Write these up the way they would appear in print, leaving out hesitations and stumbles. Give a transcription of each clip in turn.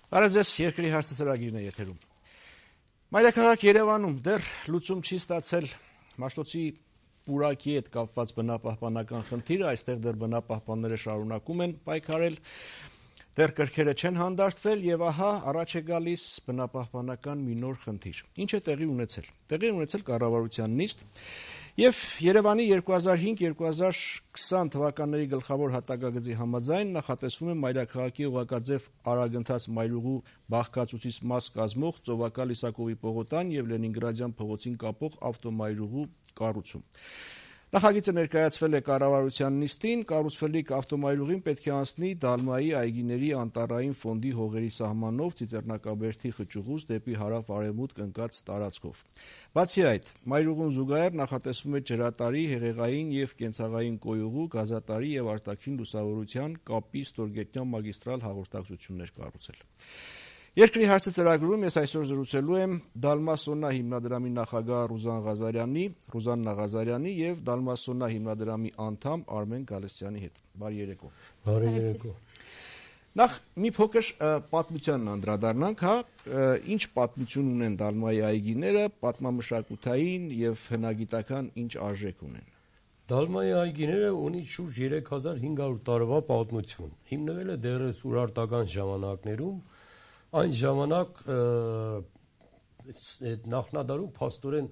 Բարև ձեզ, երկրի հարցը ծրագիրն է եթերում։ Մայրաքաղաք Երևանում դեռ լուծում չի ստացել Մաշտոցի պուրակի հետ կապված բնապահպանական խնդիրը, այստեղ դեռ բնապահպանները շարունակում են պայքարել, դեռ կրքերը չեն հանդարտվել եւ ահա առաջ է գալիս բնապահպանական մի նոր խնդիր։ Ինչ է տեղի ունեցել։ Տեղի ունեցել կառավարության նիստ եւ Երևանի 2005-2020 թվականների գլխավոր հատակագծի համաձայն նախատեսվում է Մայրաքաղաքի ուղղակաձև արագընթաց մայրուղու բաղկացուցիչ մաս կազմող Ծովակալ Իսակովի պողոտան եւ Լենինգրադյան փողոցին կապող ավտոմայրուղու կառուցում։ Նախագիծը ներկայացվել է կառավարության նիստին, կառուցվելիք ավտոմայրուղին պետք է անցնի Դալմայի այգիների անտառային ֆոնդի հողերի սահմանով Ծիծեռնակաբերդի խճուղուց դեպի հարավ-արևմուտք ընկած տարածքով։ Բացի այդ, մայրուղուն զուգահեռ նախատեսվում է ջրատարի, հեղեղային եւ կենցաղային կոյուղու, գազատարի եւ արտաքին լուսավորության կապի ստորգետնյա մագիստրալ հաղորդակցություններ կառուցել։ Երկրի հարցը ծրագրում ես այսօր զրուցելու եմ Դալմասոննա հիմնադրամի նախագահ Ռուզաննա Ղազարյանի եւ Դալմասոննա հիմնադրամի անդամ Արմեն Գալստյանի հետ։ Բարի երեկո։ Բարի երեկո։ Նախ մի փոքր պատմությանն անդրադառնանք, ինչ պատմություն ունեն Դալմայի այգիները, պատմամշակութային եւ հնագիտական ինչ արժեք ունեն։ Դալմայի այգիները ունի շուրջ 3500 տարվա պատմություն։ Հիմնվել է դեռևս ուրարտական ժամանակներում, այն ժամանակ նախնադարում փաստորեն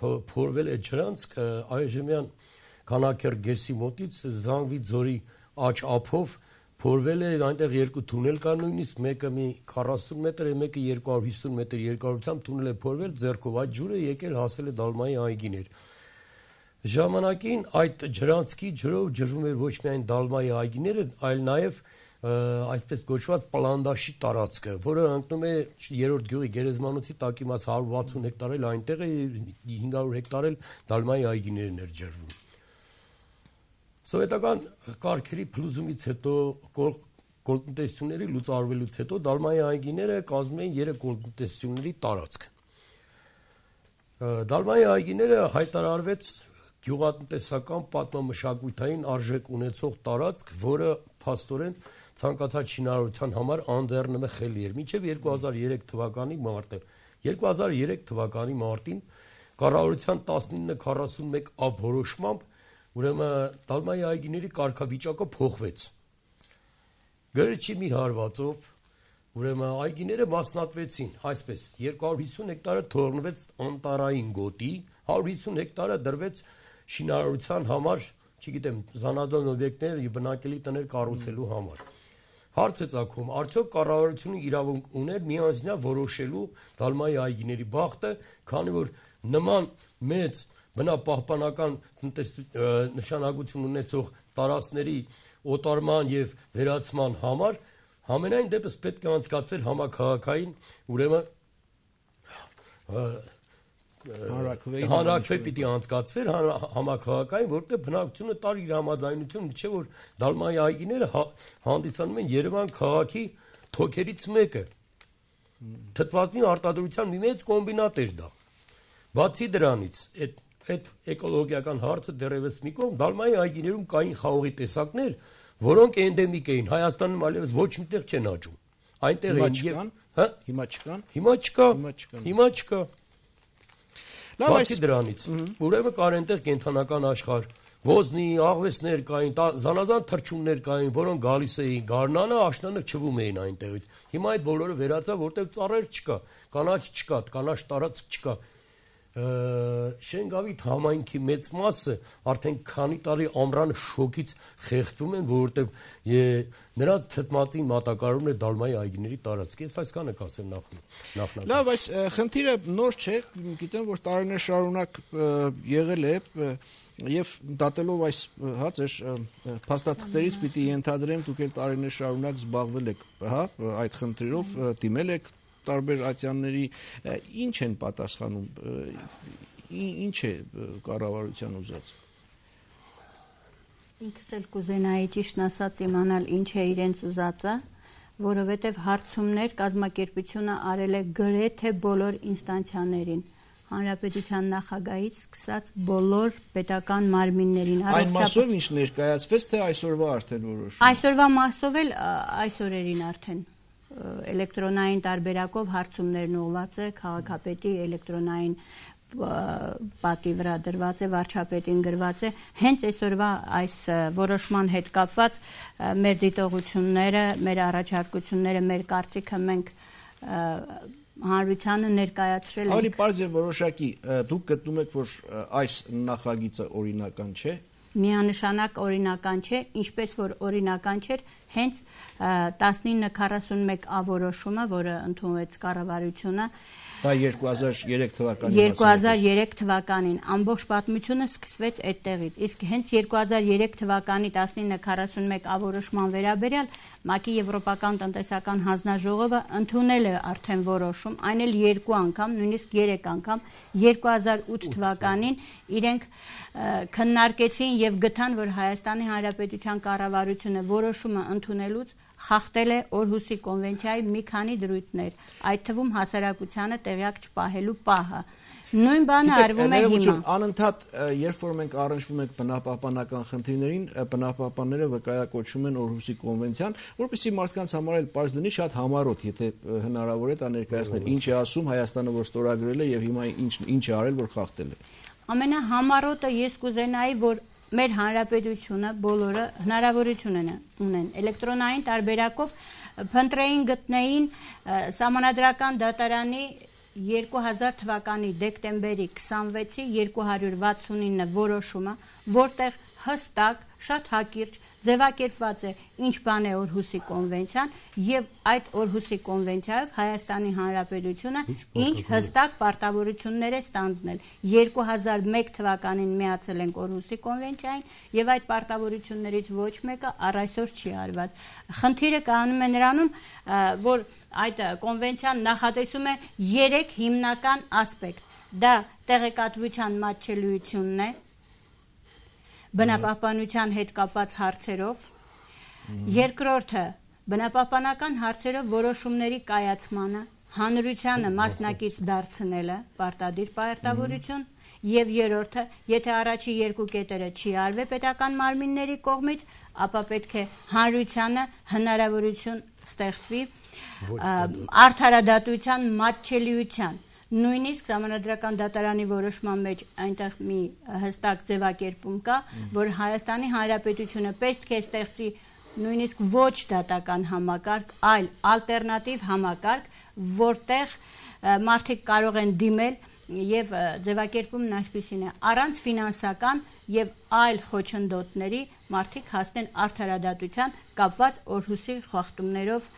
փորվել է ջրանցք այժմյան Քանաքեր գերսի մոտից Զանգվի ձորի աջ ափով փորվել է, այնտեղ երկու թունել կար նույնիսկ, մեկը մի 40 մետր, մեկը 250 մետր երկարությամբ թունել է փորվել ձեռքով, այդ ջուրը եկել հասել է Դալմայի այգիներ։ Ժամանակին այդ ջրանցքի ջրով ջրվում էր ոչ միայն Դալմայի այգիները, այլ նաև այսպես կոչված պլանդաշի տարածքը, որը ընկնում է 3-րդ գյուղի գերեզմանոցի տակ իմաց 160 հեկտար էլ այնտեղ է, 500 հեկտար էլ Դալմայի այգիներն էր ջրվում։ Սովետական կարգերի փլուզումից հետո, կոլտնտեսությունների լուծարվելուց հետո Դալմայի այգիները կազմում են 3 կոլտնտեսությունների տարածք։ Դալմայի այգիները հայտարարվեց գյուղատնտեսական պատմամշակութային արժեք ունեցող տարածք, որը փաստորեն ցանկացած շինարարության համար անձեռնմխելի էր։ Մինչև 2003 թվականի մարտը։ 2003 թվականի մարտին կառավարության 1941 որոշմամբ ուրեմն Դալմայի այգիների կարգավիճակը փոխվեց։ Գրչի մի հարվածով ուրեմն այգիները մասնատվեցին, այսպես 250 հեկտարը թողնվեց անտառային գոտի, 150 հեկտարը դրվեց շինարարության համար, չգիտեմ, զանազան օբյեկտներ եւ բնակելի տներ կառուցելու համար։ Հարց է ծագում, արդյոք կառավարությունը իրավունք ուներ միանձնյա որոշելու Դալմայի այգիների բախտը, քանի որ նման մեծ բնապահպանական նշանակություն ունեցող տարածքների օտարման եւ վերացման համար համենայն դեպս պետք է անցկացվեր համաքաղաքային, ուրեմն հանրաքվե պիտի անցկացվեր համաքաղաքային, որտեղ բնակչությունը տար իր համաձայնությունը, չէ որ Դալմայի այգիները հանդիսանում են Երևան քաղաքի թոքերից մեկը։ Թթվածնի արտադրության մի մեծ կոմբինատ էր դա։ Բացի դրանից, այդ էկոլոգիական հարցը դեռևս մի կողմ, Դալմայի այգիներում կային խաղողի տեսակներ, որոնք էնդեմիկ էին, Հայաստանում այլևս ոչ միտեղ չեն աճում։ Այնտեղ են հիմա չկան։ Հիմա չկա։ Բացի դրանից, ուրեմն կար այնտեղ կենդանական աշխարհ, ոզնի, աղվեսներ կային, զանազան թռչուններ կային, որոնք գալիս էին գարնանը, աշնանը չվում էին այնտեղից։ Հիմա այդ բոլորը վերացավ, որտեղ ծառեր չկա, կանաչ չկա, կանաչ տարածք չկա։ Շենգավիթ համայնքի մեծ մասը արդեն քանի տարի ամռան շոկից խեղդվում են, որովհետև նրանց թթվածնի մատակարարումն է Դալմայի այգիների տարածք։ Ես այսքանը կասեմ նախնական։ Լավ, այս խնդիրը նոր չէ, գիտեմ, որ տարիներ շարունակ եղել է եւ դատելով այս ձեր փաստաթղթերից պիտի ենթադրեմ, դուք էլ տարիներ շարունակ զբաղվել եք, այդ խնդրերով դիմել եք տարբեր ատյանների, ինչ են պատասխանում, ինչ է կառավարության ուզած։ Ինքս էլ կուզենայի ճիշտն ասած իմանալ ինչ է իրենց ուզածը, որովհետև հարցումներ կազմակերպությունը արել է գրեթե բոլոր ինստանցիաներին, հանրապետության նախագահից սկսած բոլոր պետական մարմիններին։ Այն մասով ինչ ներկայացվեց, թե այսօրվա արդեն որոշում։ Այսօրվա մասով էլ այս օրերին արդեն էլեկտրոնային տարբերակով հարցումներն ուղղված է քաղաքապետի էլեկտրոնային պատի վրա դրված է, վարչապետին գրված է, հենց այսօրվա այս որոշման հետ կապված մեր դիտողությունները, մեր առաջարկությունները, մեր կարծիքը մենք հանրությանը ներկայացրել ենք։ Ավելի պարզ եւ որոշակի, դուք գտնում եք, որ այս նախագիծը օրինական չէ։ Միանշանակ օրինական չէ, ինչպես որ օրինական չէր հենց 1941 որոշումը, որը ընդունվեց կառավարությունը, դա 2003 թվականին 2003 թվականին ամբողջ պատմությունը սկսվեց այդտեղից, իսկ հենց 2003 թվականի 1941 որոշման վերաբերյալ ՄԱԿ-ի Եվրոպական տնտեսական հանձնաժողովը ընդունել է արդեն որոշում, այն էլ 2 անգամ, նույնիսկ 3 անգամ 2008 թվականին իրենք քննարկեցին եւ գտան, որ Հայաստանի Հանրապետության կառավարությունը որոշումը ընդունելուց խախտել է Օրհուսի կոնվենցիայի մի քանի դրույթներ, այդ թվում հասարակությանը տեղյակ չպահելու պահը։ Նույն բանը արվում է հիմա։ Անընդհատ, երբ որ մենք առնչվում ենք բնապահպանական խնդիրներին, բնապահպանները վկայակոչում են Օրհուսի կոնվենցիան, որպեսզի մարդկանց համար էլ պարզ լինի, շատ համառոտ, եթե հնարավոր է դա ներկայացնել, ինչ է ասում Հայաստանը, որ ստորագրել է եւ հիմա ինչ է արել, որ խախտել է։ Ամենահամառոտը ես կուզենայի, որ մեր հանրապետությունը բոլորը հնարավորություն ունեն էլեկտրոնային տարբերակով փնտրեին գտնեին Սահմանադրական դատարանի 2000 թվականի դեկտեմբերի 26-ի 269 որոշումը, որտեղ հստակ, շատ հակիրճ ձևակերպված է ինչ բան է Օրհուսի կոնվենցիան եւ այդ Օրհուսի կոնվենցիայով Հայաստանի Հանրապետությունը ինչ հստակ պարտավորություններ է ստանձնել 2001 թվականին միացել ենք Օրհուսի կոնվենցիային եւ այդ պարտավորություններից ոչ մեկը առ այսօր չի արված։ Խնդիրը կանում է նրանում, որ այդ կոնվենցիան նախատեսում է 3 հիմնական ասպեկտ։ Դա տեղեկատվության մատչելիությունն է բնապահպանության հետ կապված հարցերով, երկրորդը բնապահպանական հարցերով որոշումների կայացմանը, հանրությանը մասնակից դարձնելը, պարտադիր պարտավորություն, եւ երրորդը, եթե առաջի երկու կետերը չի արվել պետական մարմինների կողմից, ապա պետք է հանրությանը հնարավորություն ստեղծվի արդարադատության մատչելիության։ Նույնիսկ Սահմանադրական դատարանի որոշման մեջ այնտեղ մի հստակ ձևակերպում կա, որ Հայաստանի Հանրապետությունը պետք է ստեղծի նույնիսկ ոչ դատական համակարգ, այլ ալտերնատիվ համակարգ, որտեղ մարդիկ կարող են դիմել եւ ձևակերպումն այսպիսին է. առանց ֆինանսական եւ այլ խոչընդոտների մարդիկ հասնեն արդարադատության կապված Օրհուսի խախտումներով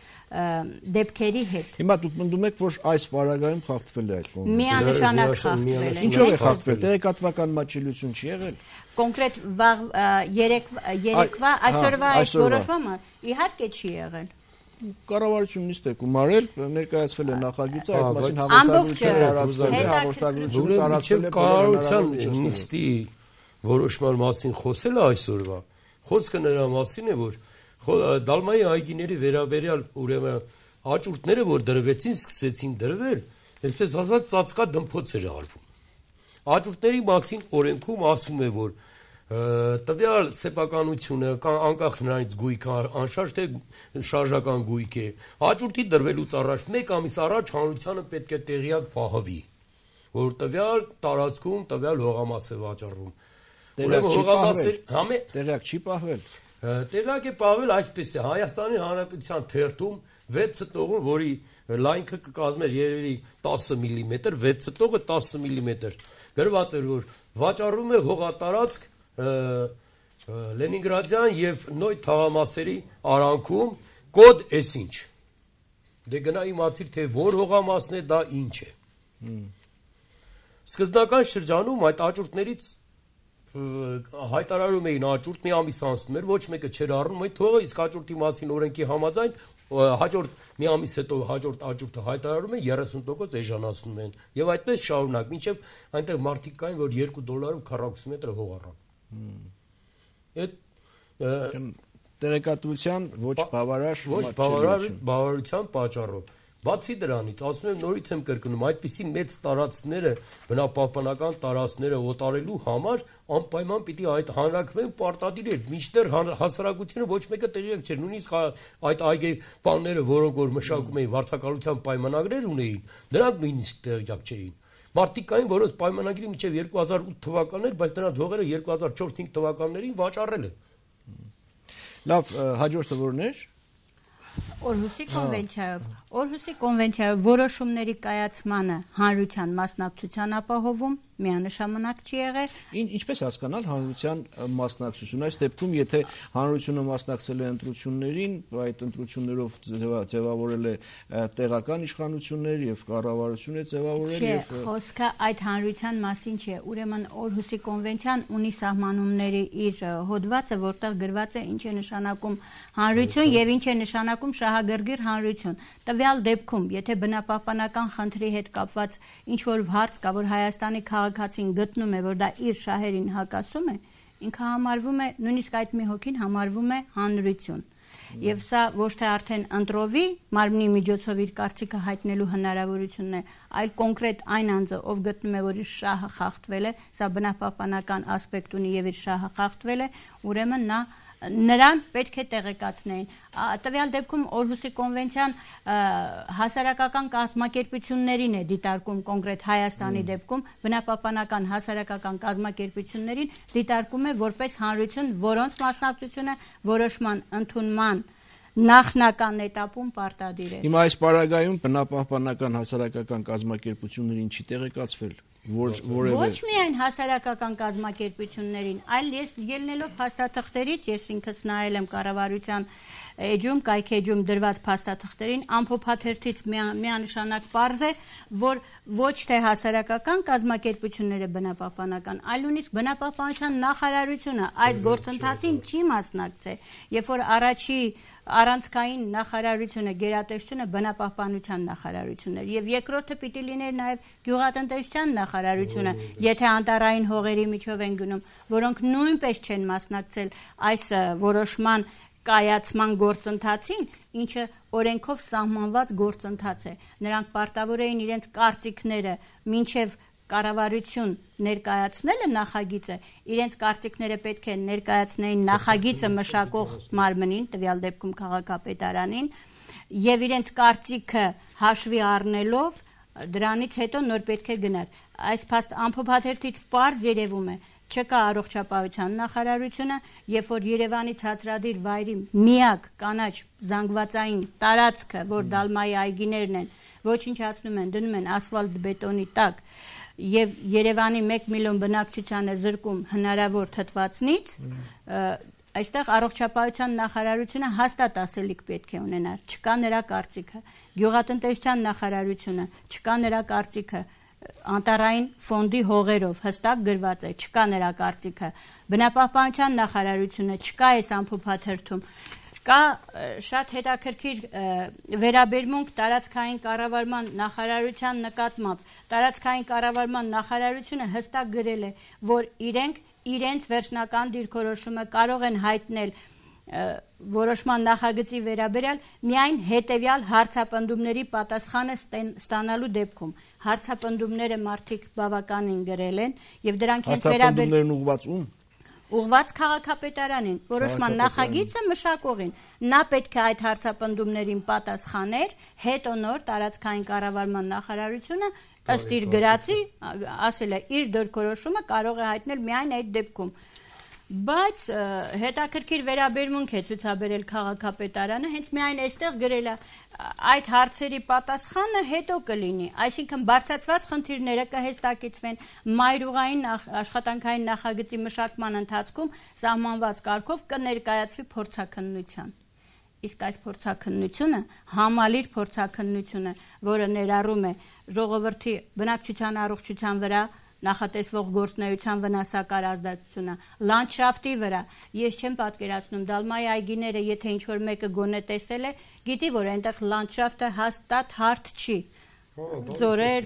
դեպքերի հետ։ Հիմա դուք պնդում եք, որ այս պարագայում խախտվել է այդ կոնվենցիան։ Միանշանակ խախտվել է։ Ինչով է խախտվել։ Տեղեկատվական մատչելիություն չի եղել։ Կոնկրետ երեկվա այսօրվա այս որոշումը իհարկե չի եղել։ Կառավարությունն նիստ է գումարել, ներկայացվել է նախագիծը, այդ մասին հաղորդագրություն տարածվել է, հաղորդագրությունը տարածվել է կառավարության նիստի որոշման մասին խոսելը այսօրվա։ Խոսքը նրա մասին է, որ Դալմայի այգիների վերաբերյալ ուրեմն աճուրդները, որ դրվեցին, սկսեցին դրվել, այսպես ասած ծածկա դմփոց էր արվում։ Աճուրդների մասին օրենքում ասում է, որ տվյալ սեփականությունը անկախ նրանից գույքը անշարժ թե շարժական գույք է, աճուրդի դրվելուց առաջ 1 ամիս առաջ հանրությանը պետք է տեղյակ պահվի, որ տվյալ տարածքում տվյալ հողամաս է վաճառվում։ Տեղյակ չի պահվել։ Տեղյակ է պահվել այսպես է, Հայաստանի Հանրապետության թերթում 6 ծտողում, որի լայնքը կկազմեր երևի 10 մմ, 6 ծտողը 10 մմ, գրված էր, որ վաճառվում է հողատարածք Լենինգրադյան եւ Նոյ թաղամասերի արանքում կոդ էսինչ։ Դե գնա իմացիր, թե որ հողամասն է, դա ինչ է։ Սկզբնական շրջանում այդ աճուրդներից հայտարարում էին աճուրդ մի ամիս անցնում էր, ոչ մեկը չէր առնում այդ հողը, իսկ աճուրդի մասին օրենքի համաձայն հաջորդ մի ամիս հետո հաջորդ աճուրդը հայտարարում են 30% էժանացնում են եւ այդպես շարունակ, մինչեւ այնտեղ մարդիկ կային, որ $2 քառակուսի մետր հող առան։ Այդ տեղեկատվության ոչ բավարար բավարարության պատճառով Բացի դրանից, ասում եմ նորից եմ կրկնում, այդպիսի մեծ տարածքները, բնապահպանական տարածքները օտարելու համար անպայման պիտի այդ հանրակրվեն պարտադիր էր, մինչդեռ հասարակությունը ոչ մեկը տեղյակ չէր, նույնիսկ այդ այգեպանները, որոնք որ մշակում էին վարդակալության պայմանագրեր ունեին, նրանք նույնիսկ տեղյակ չէին։ Մարդիկ կային, որոնց պայմանագրի մինչև 2008 թվականներ, բայց նրանց հողերը 2004-5 թվականներին վաճառել են։ Լավ, հաջորդը որն էր։ Օրհուսի կոնվենցիայով Օրհուսի կոնվենցիայով որոշումների կայացմանը հանրության մասնակցության ապահովում միանշանակ չի եղել։ Ինչպես հասկանալ հանրության մասնակցություն։ Այս դեպքում, եթե հանրությունը մասնակցել է ընտրություններին, այդ ընտրություններով ձևավորել է տեղական իշխանություններ եւ կառավարություն է ձևավորել եւ խոսքը այդ հանրության մասին չէ։ Ուրեմն Օրհուսի կոնվենցիան ունի սահմանումների իր հոդվածը, որտեղ գրված է ինչ է նշանակում հանրություն եւ ինչ է նշանակում շահագրգիռ հանրություն։ Տվյալ դեպքում, եթե բնապահպանական խնդրի հետ կապված ինչ որ հարց կա, որ Հայաստանի քաղաքացին գտնում է, որ դա իր շահերին հակասում է, ինքը համարվում է, նույնիսկ այդ մի հոգին համարվում է հանրություն։ Եվ սա ոչ թե արդեն ընտրովի մարմնի միջոցով իր կարծիքը հայտնելու հնարավորությունն է, այլ կոնկրետ այն անձը, ով գտնում է, որ իր շահը խախտվել է, սա բնապահպանական ասպեկտ ունի եւ իր շահը խախտվել է, ուրեմն նրան պետք է տեղեկացնեին։ Տվյալ դեպքում Օրհուսի կոնվենցիան հասարակական կազմակերպություններին է դիտարկում, կոնկրետ Հայաստանի դեպքում բնապահպանական հասարակական կազմակերպություններին դիտարկում է որպես հանրություն, որոնց մասնակցությունը որոշման ընդունման նախնական էտապում պարտադիր է։ Հիմա այս պարագայում բնապահպանական հասարակական կազմակերպություններին չի տեղեկացվել Ոչ միայն հասարակական կազմակերպություններին, այլ ես ելնելով փաստաթղթերից, ես ինքս նայել եմ կառավարության էջում, կայքեջում դրված փաստաթղթերին, ամփոփաթերթից միանշանակ պարզ է, որ ոչ թե հասարակական կազմակերպությունները բնապահպանական, այլ նույնիսկ բնապահպանության նախարարությունը այս գործընթացին չի մասնակցել, երբ որ առաջի առանցքային նախարարությունը, գերատեսչությունը բնապահպանության նախարարությունն էր եւ երկրորդը պիտի լիներ նաեւ գյուղատնտեսության նախարարությունը, եթե անտառային հողերի միջով են գնում, որոնք նույնպես չեն մասնակցել այս որոշման կայացման գործընթացին, ինչը օրենքով սահմանված գործընթաց է։ Նրանք պարտավոր էին իրենց կարծիքները մինչև կառավարություն ներկայացնելը նախագիծը, իրենց կարծիքները պետք է ներկայացնեին նախագիծը մշակող մարմնին, տվյալ դեպքում քաղաքապետարանին, եւ իրենց կարծիքը հաշվի առնելով դրանից հետո նոր պետք է գնար։ Այս ամփոփաթերթից պարզ երևում է, չկա առողջապահության նախարարությունը, երբ որ Երևանի ցածրադիր վայրի միակ կանաչ զանգվածային տարածքը, որ Դալմայի այգիներն են, ոչնչացնում են, դնում են ասֆալտ բետոնի տակ եւ Երևանի 1 միլիոն բնակչությանը զրկում հնարավոր թթվածնից, այստեղ առողջապահության նախարարությունը հաստատ ասելիք պետք է ունենար, չկա նրա կարծիքը, գյուղատնտեսության նախարարությունը, չկա նրա կարծիքը, անտառային ֆոնդի հողերով հստակ գրված է, չկա նրա կարծիքը, բնապահպանության նախարարությունը, չկա այս ամփոփաթերթում, կա շատ հետաքրքիր վերաբերմունք տարածքային կառավարման նախարարության նկատմամբ, տարածքային կառավարման նախարարությունը հստակ գրել է, որ իրենք իրենց վերջնական դիրքորոշումը կարող են հայտնել որոշման նախագծի վերաբերյալ միայն հետևյալ հարցապնդումների պատասխանը ստանալու դեպքում։ Հարցապնդումները մարդիկ բավականին գրել են եւ դրանք հենց հարցապնդումներն ուղղված ում ուղղված քաղաքապետարանին, որոշման նախագիծը մշակողին։ Նա պետք է այդ հարցապնդումներին պատասխաներ, հետո նոր տարածքային կառավարման նախարարությունը ըստ իր գրածի ասել է իր դիրքորոշումը կարող է հայտնել միայն այդ դեպքում։ Բայց հետաքրքիր վերաբերմունք է ցուցաբերել քաղաքապետարանը, հենց միայն այստեղ գրել է այդ հարցերի պատասխանը հետո կլինի, այսինքն բարձրացված խնդիրները կհստակեցվեն մայրուղային աշխատանքային նախագծի մշակման ընթացքում սահմանված կարգով կներկայացվի փորձաքննության։ Իսկ այս փորձաքննությունը համալիր փորձաքննություն է, որը ներառում է ժողովրդի բնակչության առողջության վրա նախատեսվող գործնեայության վնասակար ազդեցությունը, լանդշաֆտի վրա, ես չեմ պատկերացնում, Դալմայի այգիները, եթե ինչ-որ մեկը գոնե տեսել է, գիտի, որ այնտեղ լանդշաֆտը հաստատ հարթ չի, ձորեր,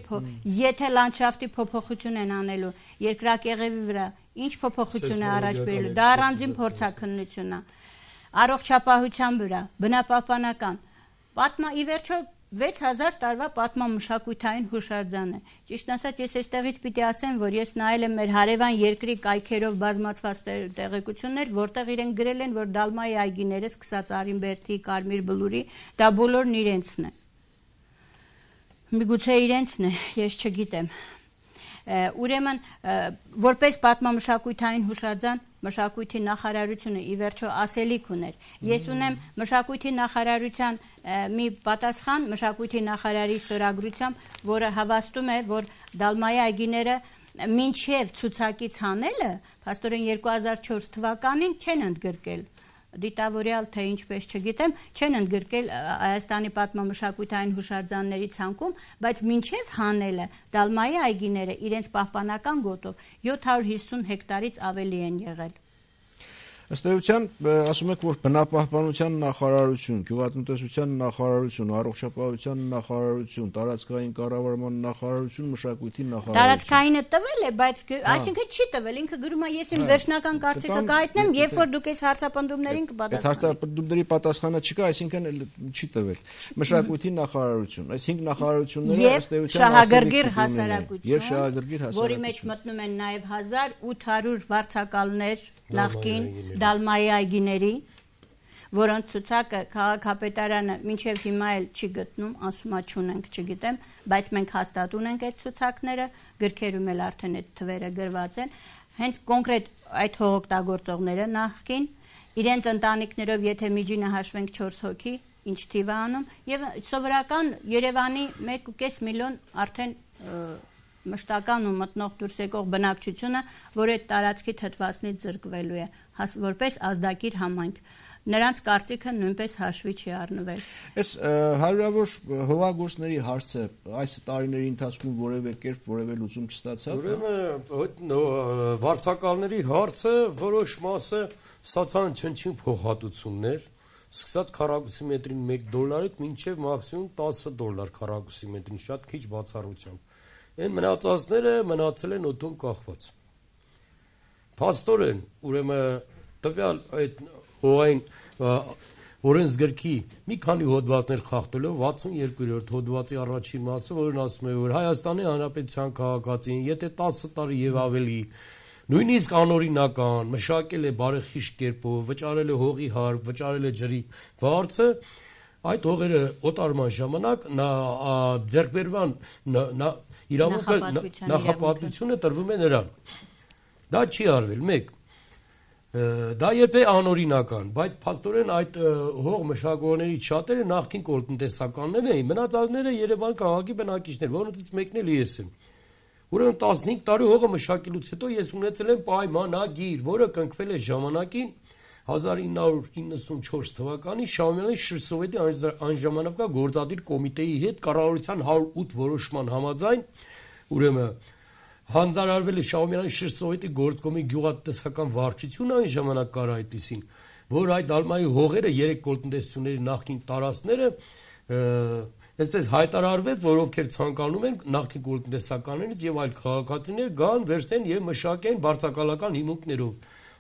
եթե լանդշաֆտի փոփոխություն են անելու, երկրակեղևի վրա, ինչ փոփոխություն է առաջ բերելու, դա առանձին փորձաքննություն է, առողջապահության վրա, բնապահպանական, ի վերջո 6000 տարվա պատմամշակութային հուշարձան է։ Ճիշտ ասած, ես այստեղից պիտի ասեմ, որ ես նայել եմ մեր հարևան երկրի կայքերով բազմացված տեղեկություններ, որտեղ իրենք գրել են, որ Դալմայի այգիները սկսած Արինբերդի, Կարմիր Բլուրի, դա բոլորն իրենցն է։ Միգուցե իրենցն է, ես չգիտեմ։ Ուրեմն, որպես պատմամշակութային հուշարձան, մշակույթի նախարարությունը ի վերջո ասելիք ուներ։ Ես ունեմ մշակույթի նախարարության մի պատասխան, մշակույթի նախարարի ստորագրությամբ, որը հավաստում է, որ Դալմայի այգիները մինչև ցուցակից հանելը, փաստորեն 2004 թվականին չեն ընդգրկել դիտավորյալ թե ինչպես չգիտեմ, չեն ընդգրկել Հայաստանի պատմամշակութային հուշարձանների ցանկում, բայց մինչև հանելը Դալմայի այգիները իրենց պահպանական գոտով 750 հեկտարից ավելի են եղել։ Ըստ էության, ասում եք, որ բնապահպանության նախարարություն, գյուղատնտեսության նախարարություն, առողջապահության նախարարություն, տարածքային կառավարման նախարարություն, մշակույթի նախարարություն։ Տարածքայինը տվել է, բայց այսինքն չի տվել, ինքը գրում է ես իմ վերջնական կարծիքը կհայտնեմ, երբ որ դուք այս հարցապնդումներին կպատասխանեք։ Հարցապնդումների պատասխանը չկա, այսինքն չի տվել։ Մշակույթի նախարարություն, այս 5 նախարարությունները ըստ էության Շահագրգիռ հասարակություն, եւ Շահագրգիռ հասարակություն, որի մեջ մտնում են նաեւ 1800 վարձակալներ նախկին Դալմայի այգիների, որոնց ցուցակը քաղաքապետարանը մինչև հիմա էլ չի գտնում, ասում է չունենք, չգիտեմ, բայց մենք հաստատ ունենք այդ ցուցակները, գրքերում էլ արդեն այդ թվերը գրված են, հենց կոնկրետ այդ հողօգտագործողները նախկին, իրենց ընտանիքներով եթե միջինը հաշվենք 4 հոգի, ինչ թիվ է անում, եւ սովորական Երևանի 1.5 միլիոն արդեն մշտական ու մտնող դուրս եկող բնակչությունը, որ այդ տարածքի թթվածնից զրկվելու է, որպես ազդակիր համայնք։ Նրանց կարծիքը նույնպես հաշվի չի առնվել։ Այս հարյուրավոր հողագործների հարցը այս տարիների ընթացքում որևէ կերպ որևէ լուծում չստացավ։ Ուրեմն վարձակալների հարցը որոշ մասը ստացան չնչին փոխհատուցումներ, սկսած քառակուսի մետրին $1 մինչև մաքսիմում $10 քառակուսի մետրին, շատ քիչ բացառությամբ։ Այն մնացածները մնացել են օդում կախված։ Փաստորեն, ուրեմն տվյալ այդ հողային օրենսգրքի մի քանի հոդվածներ խախտելով 62-րդ հոդվածի առաջին մասը, որն ասում է, որ Հայաստանի Հանրապետության քաղաքացին, եթե 10 տարի եւ ավելի նույնիսկ անօրինական մշակել է բարեխիղճ կերպով, վճարել է հողի հարկ, վճարել է ջրի վարձը, այդ հողերը օտարման ժամանակ ձեռքբերման իրավունքը նախապատվությունը տրվում է նրան։ Դա չի արվել, 1. Դա երբ է անօրինական, բայց փաստորեն այդ հող մշակողների շատերը նախկին կոլտնտեսականներ էին, մնացածները Երևան քաղաքի բնակիչներ, որոնցից մեկն էլ ես եմ։ Ուրեմն 15 տարի հողը մշակելուց հետո ես ունեցել եմ պայմանագիր, որը կնքվել է ժամանակին 1994 թվականին Շահումյանի Շրսովետի անժամանակվա գործադիր կոմիտեի հետ կառավարության 108 որոշման համաձայն, ուրեմն հանդարարվել է Շահումյանի Շրսովետի գործկոմի գյուղատնտեսական վարչությունը այն ժամանակ կար այդպիսին, որ այդ Դալմայի հողերը 3 կոլտնտեսությունների նախկին տարածքները այսպես հայտարարվեց, որ ովքեր ցանկանում են նախկին կոլտնտեսականներից եւ այլ քաղաքացիներ գան, վերցնեն եւ մշակեն վարձակալական հիմունքներով։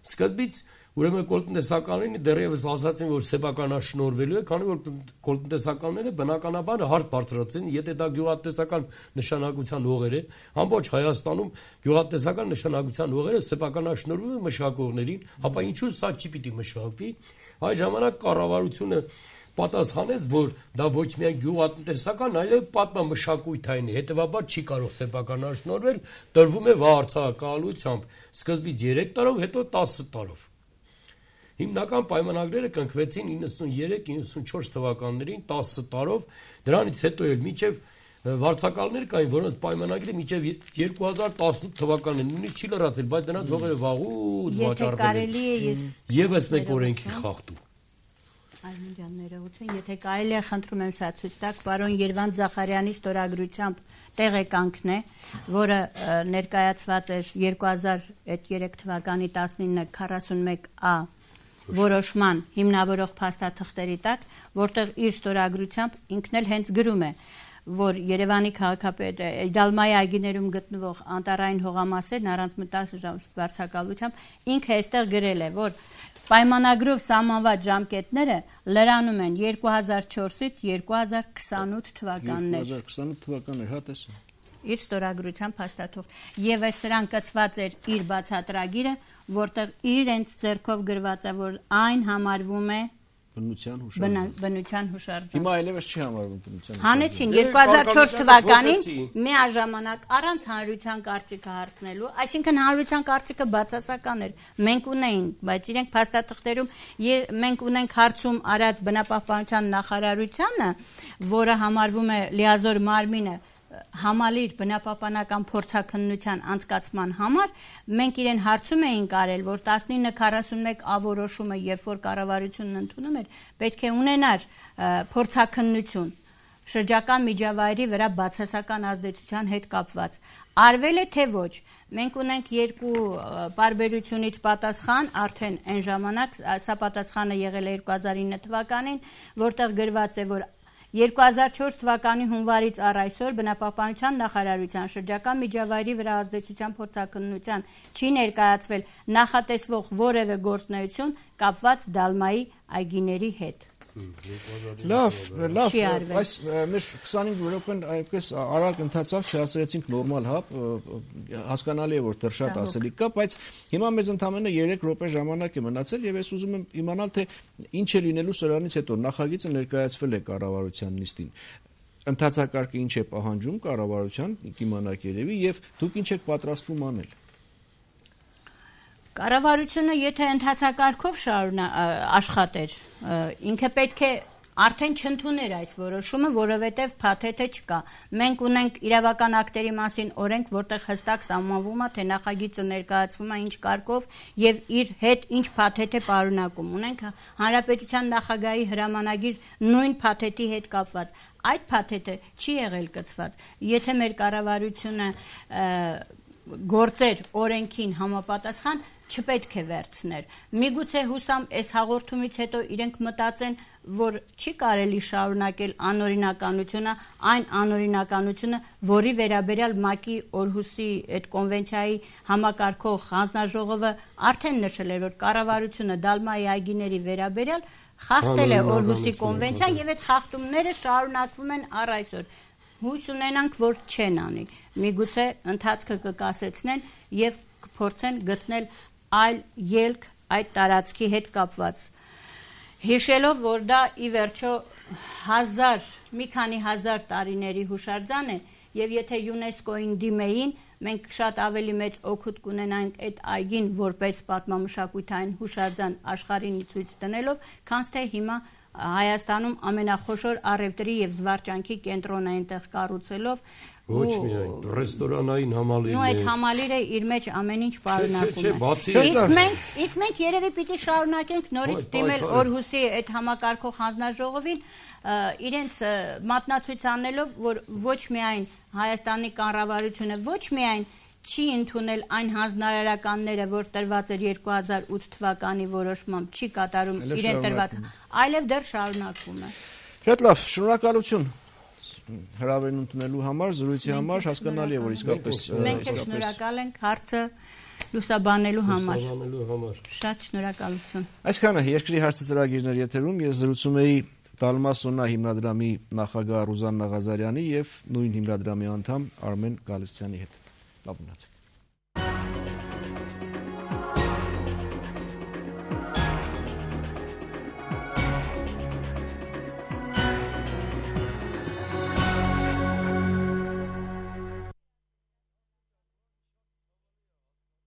Սկզբից ուրեմն կոլտնտեսականներին դեռևս ասացին, որ սեփականաշնորհվելու է, քանի որ կոլտնտեսականները բնականաբար հարց բարձրացին, եթե դա գյուղատնտեսական նշանակության հողեր է, ամբողջ Հայաստանում գյուղատնտեսական նշանակության հողերը սեփականաշնորհվում են մշակողներին, ապա ինչու սա չի պիտի մշակվի։ Այդ ժամանակ կառավարությունը պատասխանեց, որ դա ոչ միայն գյուղատնտեսական, այլև պատմամշակութային է, հետևաբար չի կարող սեփականաշնորհվել, տրվում է վարձակալությամբ, սկզբից 3 տարով, հետո 10 տարով։ Հիմնական պայմանագրերը կնքվեցին 93-94 թվականներին 10 տարով, դրանից հետո էլ մինչև վարձակալներ կային, որոնց պայմանագրը մինչև 2018 թվականին նույնիսկ չի լրացել, բայց դրանց հողերը վաղուց վաճառվել են։ Եվս մեկ օրենքի խախտում։ Արմեն ջան, ներողություն, եթե կարելի է, խնդրում եմ սա ցույց տաք, պարոն Երվանդ Զախարյանի ստորագրությամբ տեղեկանքն է, որը ներկայացված էր 2003 թվականի 1941A որոշման հիմնավորող փաստաթղթերի տակ, որտեղ իր ստորագրությամբ ինքն էլ հենց գրում է, որ Երևանի քաղաքապետ Դալմայի այգիներում գտնվող անտառային հողամասերն առանց վարձակալությամբ ինքը այստեղ գրել է, որ պայմանագրով սահմանված ժամկետները լրանում են 2004-ից 2028 թվականներ։ 2028 թվականներ, հա տեսա։ Իր ստորագրությամբ հաստատող։ Եվ այս սրան կցված էր իր բացատրագիրը, որտեղ իրենց ձեռքով գրված է, որ այն համարվում է բնության հուշարձան։ Հիմա այլևս չի համարվում բնության հուշարձան։ Հանեցին 2004 թվականին միաժամանակ առանց հանրության կարծիքը հարցնելու, այսինքն հանրության կարծիքը բացասական էր։ Մենք ունեին, բայց իրենք փաստաթղթերում մենք ունենք հարցում արած բնապահպանության նախարարությանը, որը համարվում է լիազոր մարմինը համալիր բնապահպանական փորձաքննության անցկացման համար մենք իրեն հարցում էինք արել, որ 1941 ավորոշումը, երբ որ կառավարությունն ընդունում էր, պետք է ունենար փորձաքննություն շրջակա միջավայրի վրա բացասական ազդեցության հետ կապված։ Արվել է թե ոչ։ Մենք ունենք երկու պարբերությունից պատասխան, արդեն այն ժամանակ, սա պատասխանը եղել է 2009 թվականին, որտեղ գրված է, որ 2004 թվականի հունվարից առ այսօր բնապահպանության նախարարության շրջակա միջավայրի վրա ազդեցության փորձաքննության չի ներկայացվել նախատեսվող որևէ գործունեություն կապված Դալմայի այգիների հետ։ Լավ, այս մեր 25 րոպեն այնպես արագ ընթացավ, չհասցրեցինք նորմալ հապ, հասկանալի է, որ դեռ շատ ասելիք կա, բայց հիմա մեզ ընդամենը 3 րոպե ժամանակ է մնացել եւ ես ուզում եմ իմանալ, թե ինչ է լինելու սրանից հետո նախագիծը ներկայացվել է կառավարության նիստին։ Ընթացակարգը ինչ է պահանջում կառավարության, կիմանաք երևի, եւ դուք ինչ եք պատրաստվում անել։ Կառավարությունը եթե ընթացակարգով աշխատեր, ինքը պետք է արդեն չընդուներ այս որոշումը, որովհետև փաթեթը չկա։ Մենք ունենք իրավական ակտերի մասին օրենք, որտեղ հստակ սահմանվում է, թե նախագիծը ներկայացվում է ինչ կարգով եւ իր հետ ինչ փաթեթ է պարունակում։ Ունենք Հանրապետության նախագահի հրամանագիր նույն փաթեթի հետ կապված։ Այդ փաթեթը չի եղել կցված։ Եթե մեր կառավարությունը գործեր օրենքին համապատասխան, չպետք է վերցներ։ Միգուցե հուսամ այս հաղորդումից հետո իրենք մտածեն, որ չի կարելի շարունակել անօրինականությունը, այն անօրինականությունը, որի վերաբերյալ ՄԱԿ-ի Օրհուսի այդ կոնվենցիայի համակարգող հանձնաժողովը արդեն նշել էր, որ կառավարությունը Դալմայի այգիների վերաբերյալ խախտել է Օրհուսի կոնվենցիան եւ այդ խախտումները շարունակվում են առ այսօր։ Հույս ունենանք, որ չեն անի։ Միգուցե ընթացքը կկասեցնեն եւ կփորձեն գտնել այլ ելք այդ տարածքի հետ կապված։ Հիշելով, որ դա ի վերջո մի քանի հազար տարիների հուշարձան է, եւ եթե ՅՈՒՆԵՍԿՕ-ին դիմեին, մենք շատ ավելի մեծ օգուտ կունենանք այդ այգին որպես պատմամշակութային հուշարձան աշխարհին ցույց տնելով, քան թե հիմա Հայաստանում ամենախոշոր առևտրի եւ զվարճանքի կենտրոնը այնտեղ կառուցելով ոչ միայն ռեստորանային համալիրն է։ Ու այդ համալիրը իր մեջ ամեն ինչ պարունակում է։ Իսկ մենք երևի պիտի շարունակենք նորից դիմել Օրհուսի այդ համակարգող հանձնաժողովին, իրենց մատնացույց անելով, որ ոչ միայն Հայաստանի կառավարությունը ոչ միայն չի ընդունել այն հանձնարարականները, որ տրված էր 2008 թվականի որոշմամբ, չի կատարում իրեն տրված, այլև դեռ շարունակվում է։ Շատ լավ, շնորհակալություն հրավերն ընդունելու համար, զրույցի համար, հասկանալի է, որ իսկապես մենք շնորհակալ ենք հարցը լուսաբանելու համար։ Շատ շնորհակալություն։ Այսքանը երկրի հարցը ծրագիրներ եթերում ես զրուցում էի Դալմա Սոնա հիմնադրամի նախագահ Ռուզաննա Ղազարյանի եւ նույն հիմնադրամի անդամ Արմեն Գալստյանի հետ։ Լավ մնացեք։